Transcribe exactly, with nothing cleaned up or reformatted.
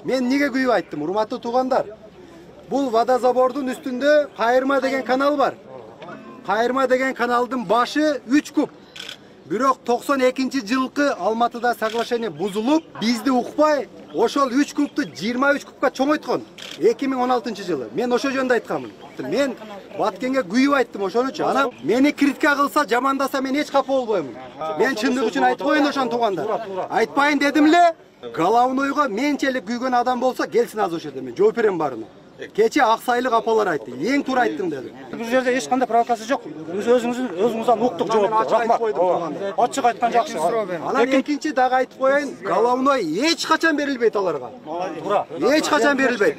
Мен эмнеге күйүп айттым, урматтуу туугандар? Бул водозабордун үстүндө Кайырма деген канал бар. Кайырма деген каналдын башы үч куб. Бирок токсон экинчи жылкы Алматыда соглашение бузулуп, бизди укпай, ошол үч кубту жыйырма үч кубка чоңойткон. эки миң он алтынчы жылы. Мен ошо жөнүндө айтканмын. Мен Баткенге күйүп айттым ошонучу. Анан мени критика кылса, жамандаса мен эч капа болбоймун. Мен чындык үчүн айтып коеюн ошон туугандар. Айтпайын дедим эле. Головнойго менчелик күйгөн адам болсо келсин азыр ошо жерде, мен жооп берем барына. Кече Аксайлык апалар айтты. Эң туура айттым деди. Бул жерде эч кандай провокация жок. Биз өзүңүздүн өзүңүздөн уктук жоопту. Рахмат. Ачык айткан жакшы. Анан экинчи дагы айтып коеюн, головной эч качан берилбейт аларга. Туура. Эч качан берилбейт.